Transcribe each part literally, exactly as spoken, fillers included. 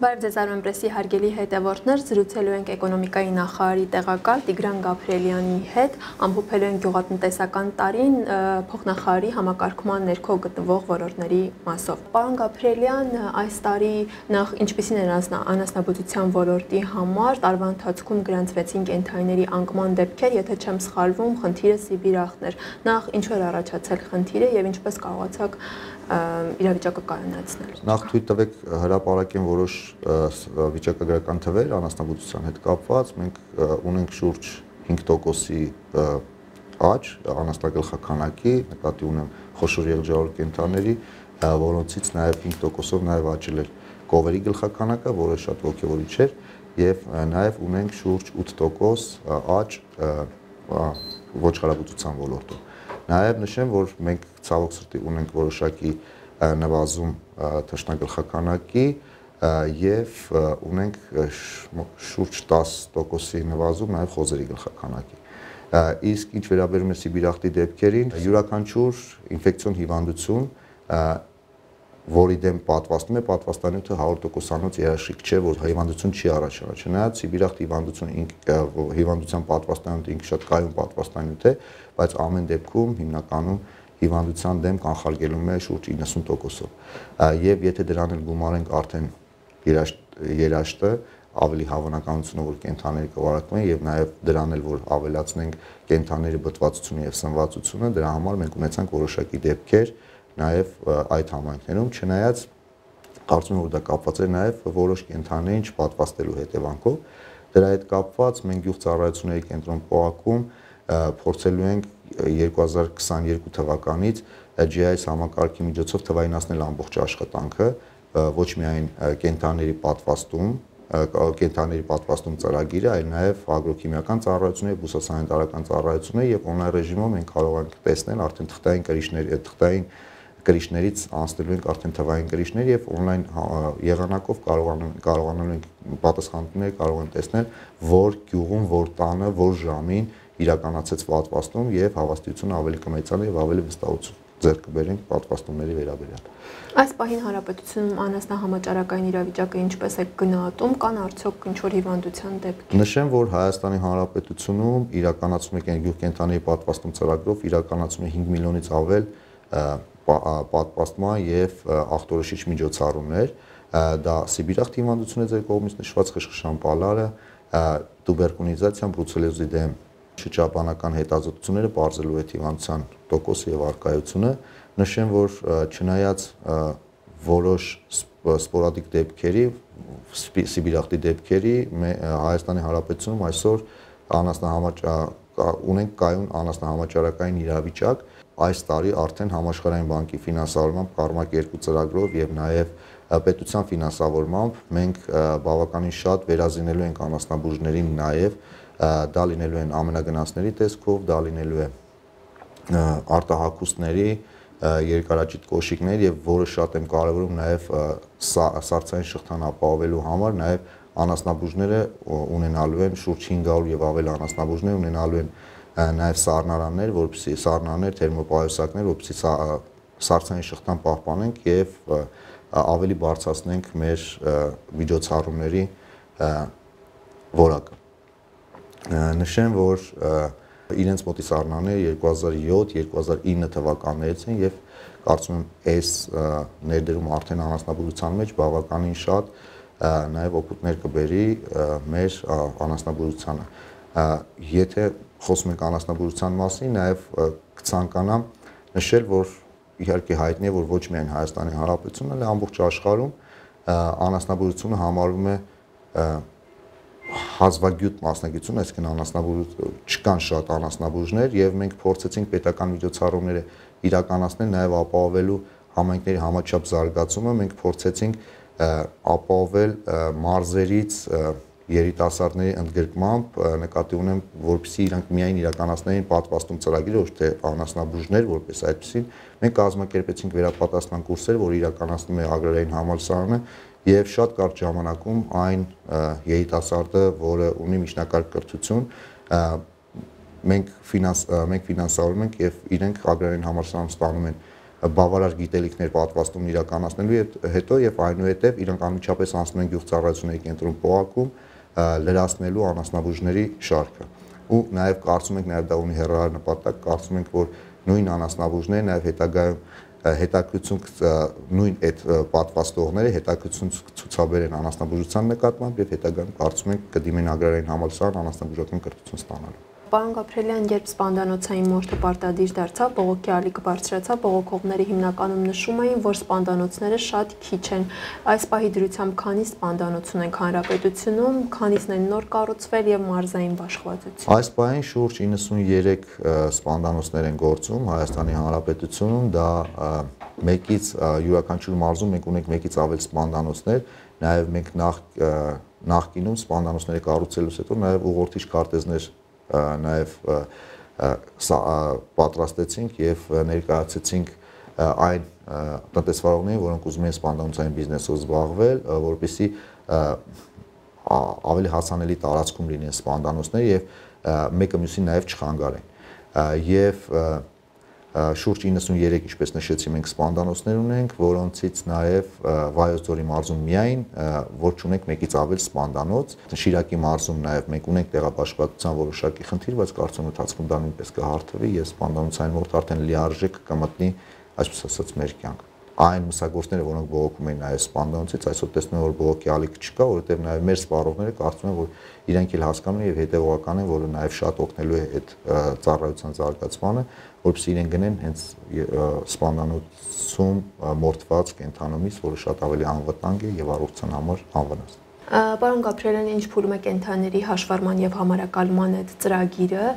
Բարև ձեզ Armenpress-ի հարգելի հետևորդներ, զրուցելու ենք էկոնոմիկայի նախարարի տեղակալ Տիգրան Գաբրելյանի հետ, ամփոփելու ենք գյուղատնտեսական տարին փոխնախարարի համակարգման ներքո գտնվող ոլորտների մասով։ Պարոն Գաբրելյան, այս տարի նախ ինչպիսին էր անասնաբուծության ոլորտի համար, տարվա ընթացքում գրանցվեցին կենդանիների անկման դեպքեր, եթե չեմ սխալվում, խնդիրը Սիբիրախտն էր։ Նախ ինչու էր առաջացել խնդիրը եւ ինչպես կարողացաք իրավիճակը կայունացնել։ Նախ թույլ տվեք հրապարակեն որոշ վիճակագրական թվեր անասնաբուծության հետ կապված, մենք ունենք շուրջ հինգ տոկոսի աճ անասնագլխաքանակի, նկատի ունեմ խոշոր եղջերուար կենդանիների, որոնցից նաև հինգ տոկոսով նաև աճել էր կովերի գլխաքանակը, որը շատ ոգևորիչ էր, եւ նաև ունենք շուրջ ութ տոկոս աճ ոչխարաբուծության ոլորտում։ Նաև նշեմ, որ մենք ցավոք սրտի ունենք որոշակի նվազում թռչնագլխականակի եւ ունենք շուրջ տասը տոկոսի նվազում նաև խոզերի գլխականակի։ Իսկ ինչ վերաբերում է Սիբիրախտի դեպքերին, յուրաքանչյուր ինֆեկցիոն հիվանդություն, որի դեմ պատվաստում է, պատվաստանյութը հարյուր տոկոսանոց երաշխիք չէ, որ հիվանդություն չի առաջանա։ Չնայած Սիբիրախտի հիվանդությունը հիվանդության պատվաստանյութը ինքը շատ կայուն պատվաստանյութ է, բայց ամեն դեպքում հիմնականում հիվանդության դեմ կանխարգելում է շուրջ իննսուն տոկոսով։ Եվ եթե դրան էլ գումարենք արդեն երաշտը, ավելի հավանականությունը, որ կենդանիները կվարակվեն եւ նաեւ դրան էլ որ ավելացնենք կենդանիների բտվածությունը եւ սնվածությունը, դրա համար մենք ունեցանք որոշակի դեպքեր նաեւ այդ համայնքներում, չնայած կարծում եմ որ դա կապված է նաեւ որոշ կենդանիներին չպատվաստելու հետևանքով։ Դրա հետ կապված մենք գյուղծառայությունների կենտրոն Պողակում փորձելու ենք երկու հազար քսաներկու թվականից G I S համակարգի միջոցով թվայինացնել ամբողջ աշխատանքը, ոչ միայն կենդանիների պատվաստում, կենդանիների պատվաստում ծրագիրը, այլ նաև ագրոքիմիական ծառայությունները, բուսասանիտարական ծառայությունները եւ on-line ռեժիմով մենք կարող ենք տեսնել արդեն թղթային կրիչների, թղթային կրիչներից անցնելու ենք արդեն թվային կրիչներ եւ on-line եղանակով կարողանալու ենք պատասխանատուները կարող են տեսնել որ գյուղում, որ տանը, որ ժամին իրականացած պատվաստում եւ հավաստիությունը ավելի կմեծանա եւ ավելի վստահություն ձեռք կբերենք պատվաստումների վերաբերյալ։ Այս պահին հանրապետությունում անասնահամաճարակային իրավիճակը ինչպես է գնահատում, կան արդյոք ինչ-որ հիվանդության դեպքեր։ Նշեմ, որ Հայաստանի Հանրապետությունում իրականացում է գյուղկենդանիների պատվաստում ծրագրով իրականացում է հինգ միլիոնից ավել պատվաստման եւ ախտորոշիչ միջոցառումներ, դա Սիբիրախտի հիվանդություն է ձեր կողմից նշված խշխշան պալարը, տուբերկուլինիզացիան, բրուցելոզի դեմ շրջաբանական հետազոտությունները բարձելու հետ հիվանդության տոկոսը եւ արկայությունը։ Նշեմ, որ չնայած որոշ սպորադիկ դեպքերի, Սիբիրախտի դեպքերի Հայաստանի Հանրապետությունում այսօր անասնահամաճարակ ունենք կայուն անասնահամաճարակային իրավիճակ։ Այս տարի արդեն Համաշխարհային բանկի ֆինանսավորմամբ Կարմակ երկու ծրագրով եւ նաեւ պետության ֆինանսավորմամբ մենք բավականին շատ վերազինելու ենք անասնաբուժներին նաեւ դա լինելու են ամենագնացների տեսքով, դա լինելու է արտահակուստների, երկարաճիտ կոշիկներ եւ որը շատ եմ կարեւորում նաեւ սառցային շղթան ապահովելու համար նաեւ անասնաբուժները ունենալու են շուրջ հինգ հարյուր եւ ավել անասնաբուժներ ունենալու են նաեւ սառնարաններ, որպեսզի սառնարաններ, թերմոպայուսակներ, որպեսզի սառցային շղթան պահպանենք եւ ավելի բարձրացնենք մեր միջոցառումների որակը։ Նշեմ, որ իրենց մոտի սառնարանները երկու հազար յոթ երկու հազար ինը թվականներից են եւ կարծում եմ այս ներդրումը արդեն անասնաբուժության մեջ բավականին շատ նաեւ օգուտներ կբերի մեր անասնաբուժությանը։ Եթե խոսում ենք անասնաբուժության մասին, նաեւ կցանկանամ նշել, որ իհարկե հայտնի է, որ ոչ միայն Հայաստանի Հանրապետությունն, այլ ամբողջ աշխարհում անասնաբուժությունը համարվում է հազվագյուտ մասնագիտություն, այսինքն անասնաբուժ չկան շատ անասնաբուժներ եւ մենք փորձեցինք պետական միջոցառումները իրականացնել նաեւ ապահովելու համայնքների համաչափ զարգացումը, մենք փորձեցինք ապահովել մարզերից երիտասարդների ընդգրկմամբ, նկատի ունեմ, որպեսզի իրանք միայն իրականացնեին պատվաստում ծրագիրը, ոչ թե անասնաբուժներ, որպես այդպեսին, մենք կազմակերպեցինք վերապատասխան կուրսեր, որ իրականացնում է Ագրարային համալսարանը եւ շատ կարճ ժամանակում այն երիտասարդը, որը ունի միջնակարգ կրթություն, մենք ֆինանս մենք ֆինանսավորում ենք եւ իրենք Ագրարային համալսարանում ստանում են բավարար գիտելիքներ պատվաստում իրականացնելու հետո եւ այնուհետեւ իրանք անմիջապես անցնում են գյուղծառայությունների կենտրոն Պողակում լրացնելու անասնաբուժների շարքը ու նաեւ կարծում ենք նաեւ դա ունի հեռարար նպատակ կարծում ենք որ նույն անասնաբուժները նաեւ հետագայում հետաքրություն նույն այդ պատվաստողները հետաքրություն ցուցաբերեն անասնաբուժության նկատմամբ եւ հետագայում կարծում ենք կդիմեն agrarային համալսարան անասնաբուժական կրթություն ստանալու Պարոն Գաբրելյան, երբ սպանդանոցային մորթը պարտադիր դարձավ, բողոքի ալիքը բարձրացավ, բողոքողները հիմնականում նշում էին, որ սպանդանոցները շատ քիչ են։ Այս պահի դրությամբ քանի սպանդանոց ունենք հանրապետությունում, քանիսն են նոր կառուցվել եւ մարզային բաշխվածություն։ Այս պահին շուրջ իննսուններեք սպանդանոցներ են գործում Հայաստանի Հանրապետությունում, դա մեկից յուրաքանչյուր մարզում մենք ունենք մեկից ավել սպանդանոցներ, նաեւ մենք նախ նախկինում սպանդանոցները կառուցելուց հետո նաեւ ուղղորդիչ քարտեզներ նաև պատրաստեցինք եւ ներկայացրեցինք այն տնտեսվարողներին, որոնք ուզում են սպանդանոցային բիզնեսով զբաղվել, որպեսզի ավելի հասանելի տարածքում լինեն սպանդանոցները եւ մեկը մյուսին նաև չխանգարեն։ Եվ շուրջ իննսուններեք, ինչպես նշեցի, մենք սպանդանոցներ ունենք, որոնցից նաև Վայոց ձորի մարզում միայն որ չունենք մեկից ավել սպանդանոց։ Շիրակի մարզում նաև մենք ունենք տեղաբաշխվածության որոշակի խնդիր, բայց կարծում եմ ընթացքում դա նույնպես կհարթվի եւ սպանդանոցային մորթ արդեն լիարժեք կմտնի, այսպես ասած, մեր կյանք։ Այն մսագործները, որոնք բողոքում են նաև սպանդանոցից, այսօր տեսնում են, որ բողոքի ալիք չկա, որովհետև նաև մեր սպառողները կարծում են, որ իրենք էլ հասկանում են եւ հետեւողական են, որ նաև շատ օգնելու է այդ ծառայության զարգացմանը, որովհետեւ իրենք գնեն հենց սպանդանոցում մորթված կենթանումից, որը շատ ավելի անվտանգ է եւ առողջության համար անվնաս։ Պարոն Գաբրելյան, ինչ փուլում է կենթանիների հաշվառման եւ համարակալման այդ ծրագիրը,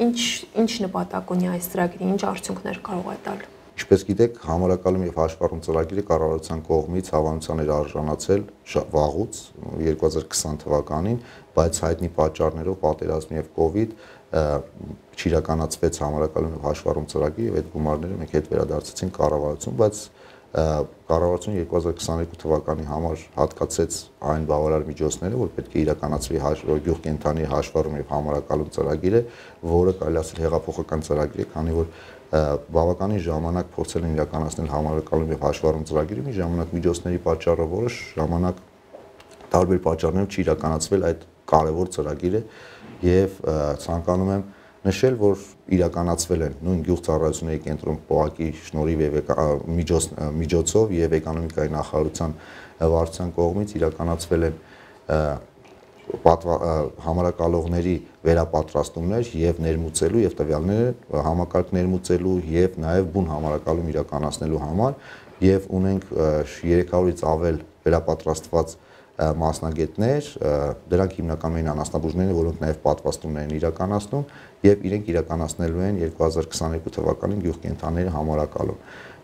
ինչ ինչ նպատակ ունի այս ծրագիրը, ինչ արդյունքներ կարող է տալ։ Ինչպես գիտեք, համարակալում եւ հաշվառում ծրագիրը կառավարության կողմից հավանության էր արժանացել վաղուց երկու հազար քսան թվականին, բայց հայտնի պատճառներով պատերազմ եւ կոവിഡ് չիրականացվեց համարակալում եւ հաշվառում ծրագիրը եւ այդ գումարները մենք հետ վերադարձեցինք կառավարություն, բայց կառավարությունը երկու հազար քսաներկու թվականի համար հատկացեց այն բավարար միջոցները, որ պետք է իրականացվի գյուղկենթանի հաշվառում եւ համարակալում ծրագիրը, որը կարելի ասել հեղափոխական ծրագիր է, քանի որ բավականին ժամանակ փորձել են իրականացնել համարակալում եւ հաշվառում ծրագիրը, մի ժամանակ միջոցների պատճառով որոշ ժամանակ տարբեր պատճառներով չի իրականացվել այդ կարևոր ծրագիրը եւ ցանկանում եմ նշել, որ իրականացվել են նույն գյուղծառայությունների կենտրոն Պողակի շնորհիվ եւ միջոցով եւ էկոնոմիկայի նախարարության վարչության կողմից իրականացվել են համարակալողների վերապատրաստումներ եւ ներմուծելու եւ տվյալները համակարգ ներմուծելու եւ նաեւ բուն համարակալում իրականացնելու համար եւ ունենք երեք հարյուրից ավել վերապատրաստված մասնագետներ, դրանք հիմնականում են անասնաբուժները, որոնք նաև պատվաստումներ են իրականացնում եւ իրենք իրականացնելու են երկու հազար քսաներկու թվականին գյուղկենթանիների համարակալում։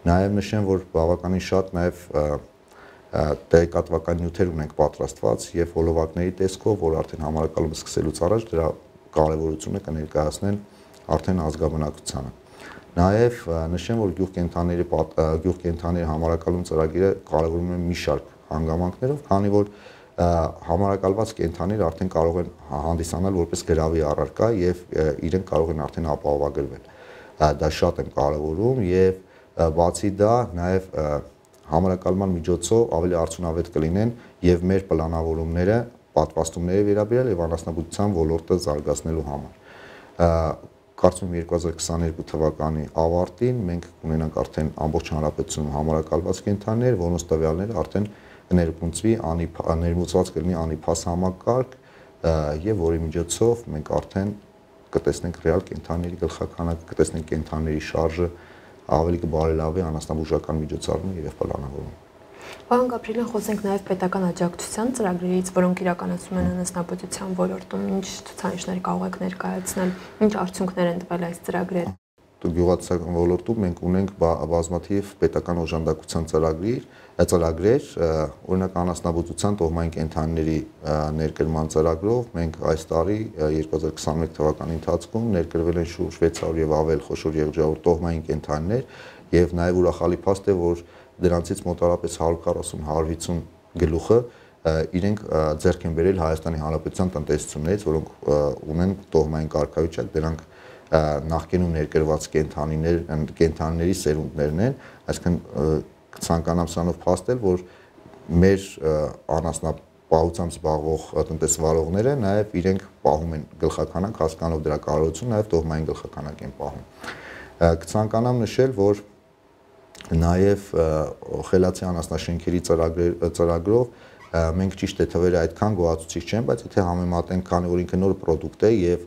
Նաև նշեմ, որ բավականին շատ նաև տեղեկատվական նյութեր ունենք պատրաստված եւ հոլովակների տեսքով, որ արդեն համարակալումը սկսելուց առաջ դրա կարեւորությունը կներկայացնեն արդեն ազգաբնակությանը։ Նաև նշեմ, որ գյուղկենթանիների գյուղկենթանիների համարակալում ծրագիրը կարևորում է մի շարք հանգամանքներով, քանի որ համարակալված կենթանիները արդեն կարող են հանդիսանալ որպես գրավի առարկա եւ իրենք կարող են արդեն ապահովագրվել։ Դա շատ եմ կարևորում եւ բացի դա նաեւ համարակալման միջոցով ավելի արդյունավետ կլինեն եւ մեր պլանավորումները պատվաստումների վերաբերյալ եւ անասնաբուժության ոլորտը զարգացնելու համար։ Կարծում եմ երկու հազար քսաներկու թվականի ավարտին մենք ունենանք արդեն ամբողջ հանրապետությունում համարակալված կենթանիներ, որոնց տվյալները արդեն ներմուծվի, ներմուծված կլինի անիփաս համակարգ եւ որի միջոցով մենք արդեն կտեսնենք ռեալ կենթանիների գլխաքանակը, կտեսնենք կենթանիների շարժը, ավելի կբարելավի անասնաբուժական միջոցառումը եւ պլանավորումը։ Պարոն Գաբրելյան, խոսենք նաեւ պետական աջակցության ծրագրերից, որոնք իրականացվում են անասնաբուժության ոլորտում, ինչ ցուցանիշներ կարող եք ներկայացնել, ինչ արդյունքներ են տվել այս ծրագրերը։ Գյուղատնտեսական ոլորտում մենք ունենք բազմաթիվ պետական օժանդակության ծրագրեր, ծրագրեր, օրինակ անասնաբուժության տոհմային կենթանիների ներկրման ծրագրով մենք այս տարի երկու հազար քսաներկու թվականի ընթացքում ներկրվել են շուրջ վեց հարյուր եւ ավել խոշոր եղջյուրավոր տոհմային կենթանիներ եւ նաեւ ուրախալի փաստ է, որ դրանցից մոտավորապես հարյուր քառասուն հարյուր վաթսուն գլուխը իրենք ձեռք են բերել Հայաստանի Հանրապետության տնտեսություններից, որոնք ունեն տոհմային կարգավիճակ, դրանք նախկինում ներկրված կենդանիներ, կենդանիների սերունդներն են, այսինքն կցանկանամ սրանով փաստել, որ մեր անասնապահությամբ զբաղվող տնտեսվարողները նաև իրենք պահում են գլխաքանակ, հասկանալով դրա կարևորությունը, նաև տոհմային գլխաքանակ են պահում։ Կցանկանամ նշել, որ նաև խելացի անասնաշենքերի ծրագրով մենք ճիշտ է թվերը այդքան գոհացուցիչ չեն, բայց եթե համեմատենք, քանի որ ինքը նոր պրոդուկտ է եւ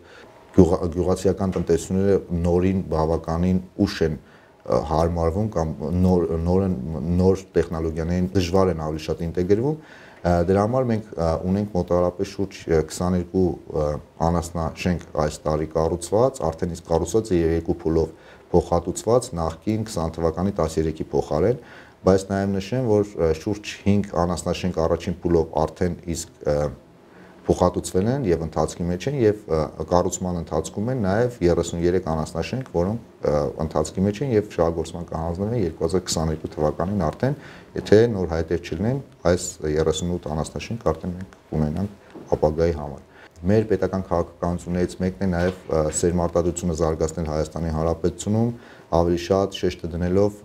գյուղացիական տնտեսությունները նորին բավականին ուշ են հարմարվում կամ նոր նոր նոր տեխնոլոգիաներին դժվար են ավելի շատ ինտեգրվում, դրա համար մենք ունենք մոտավորապես շուրջ քսաներկու անասնաշենք այս տարի կառուցված, արդեն իսկ կառուցված է եւ երկու փուլով փոխհատուցված նախկին քսան թվականի տասներեքի փոխարեն, բայց նաև նշեմ, որ շուրջ հինգ անասնաշենք առաջին փուլով արդեն իսկ փոխհատուցվել են եւ ընթացքի մեջ են եւ կառուցման ընթացքում են նաև երեսուններեք անասնաշենք, որոնք ընթացքի մեջ են եւ շահագործման կհանձնվեն երկու հազար քսաներկու թվականին արդեն, եթե նոր հայտեր չլինեն, այս երեսունութ անասնաշենք արդեն մենք ունենանք ապագայի համար։ Մեր պետական քաղաքականություններից մեկն է նաև սերմարտադրությունը զարգացնել Հայաստանի Հանրապետությունում, ավելի շատ շեշտը դնելով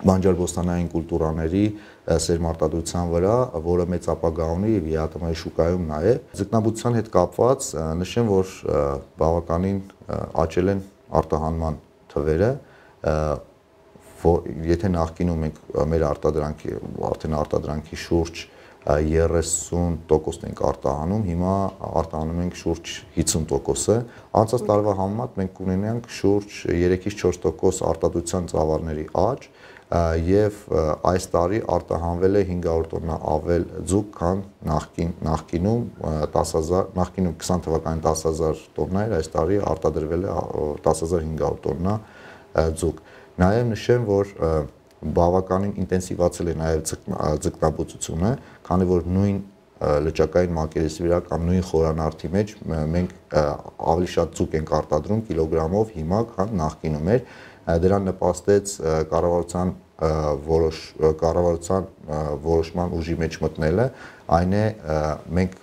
բանջարբոստանային կուլտուրաների սերմարտադրության վրա, որը մեծ ապագա ունի եւ ԵԱՏՄ-ի շուկայում նաև։ Ձկնաբուծության հետ կապված նշեմ, որ բավականին աճել են արտահանման թվերը, եթե նախկինում մենք մեր արտադրանքի արդեն արտադրանքի շուրջ երեսուն տոկոս ենք արտահանում, հիմա արտահանում ենք շուրջ հիսուն տոկոսը։ Անցած տարվա համեմատ մենք ունենանք շուրջ երեքից չորս տոկոս արտադրության ծավալների աճ եւ այս տարի արտահանվել է հինգ հարյուր տոննա ավել ձուկ, քան նախկին նախկինում տասը հազար նախկինում քսան թվականին տասը հազար տոննա էր, այս տարի արտադրվել է տասը հազար հինգ հարյուր տոննա ձուկ։ Նաեւ նշեմ, որ բավականին ինտենսիվացել է նաև ձկնաբուծությունը, քանի որ նույն լճակային մակերեսի վրա կամ նույն խորանարդի մեջ մենք ավելի շատ ձուկ ենք արտադրում կիլոգրամով հիմա, քան նախկինում էր։ Դրան նպաստեց կառավարության որոշ կառավարության որոշման ուժի մեջ մտնելը, այն է մենք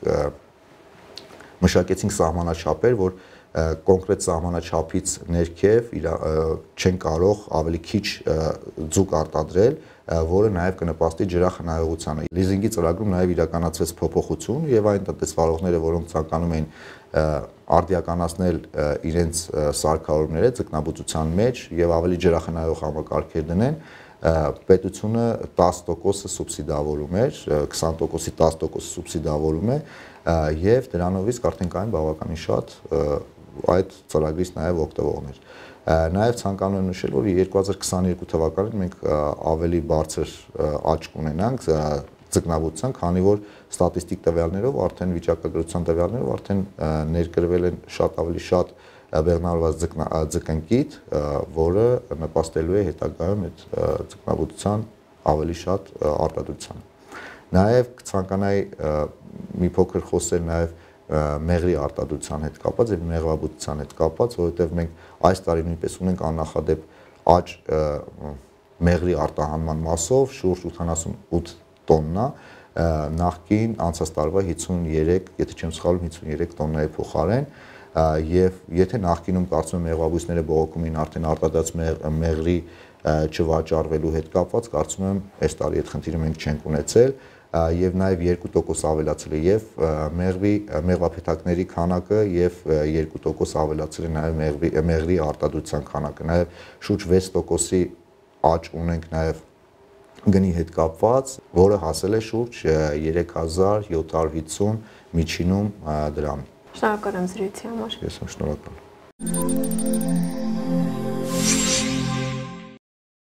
մշակեցինք սահմանաչափեր, որ կոնկրետ սահմանաչափից ներքև չեն կարող ավելի քիչ ձուկ արտադրել, որը նաև կնպաստի ջրախնայողությանը։ Լիզինգի ծրագրում նաև իրականացվեց փոփոխություն եւ այն տնտեսվարողները, որոնք ցանկանում են արդիականացնել իրենց սարքավորումները ձկնաբուծության մեջ եւ ավելի ջրախնայող համակարգեր դնեն, պետությունը տասը տոկոս սուբսիդավորում էր, քսան տոկոսի տասը տոկոս սուբսիդավորում է եւ դրանով իսկ արդեն կային բավականին շատ այդ ծրագրից նաև օգտվողներ։ Նաև ցանկանում եմ նշել, որ երկու հազար քսաներկու թվականին մենք ավելի բարձր աճ կունենանք ձկնաբուծության, քանի որ ստատիստիկ տվյալներով արդեն վիճակագրության տվյալներով արդեն ներկրվել են շատ ավելի շատ բեղմնավորված ձկնկիթ, որը նպաստելու է հետագայում այդ ձկնաբուծության ավելի շատ արտադրությանը։ Նաև կցանկանայի մի փոքր խոսել նաև մեղրի արտադրության հետ կապված եւ մեղվաբուծության հետ կապված, որովհետեւ մենք այս տարի նույնպես ունենք աննախադեպ աճ մեղրի արտահանման մասով շուրջ ութանասունութ տոննա, նախկին անցած տարվա հիսուններեք, եթե չեմ սխալվում, հիսուներեք տոննայի փոխարեն, եւ եթե նախկինում կարծում եմ մեղվաբույսները բողոքում էին արդեն արտադրած մեղրի չվաճառվելու հետ կապված, կարծում եմ այս տարի այդ խնդիրը մենք չենք ունեցել եւ նաեւ երկու տոկոս ավելացել է եւ մեղվի մեղվափեթակների քանակը եւ երկու տոկոս ավելացել է նաեւ մեղվի մեղրի արտադրության քանակը, նաեւ շուրջ վեց տոկոսի աճ ունենք նաեւ գնի հետ կապված, որը հասել է շուրջ երեք հազար յոթ հարյուր հիսուն միջինում դրամի։ Շնորհակալ եմ զրույցի համար։ Ես եմ շնորհակալ։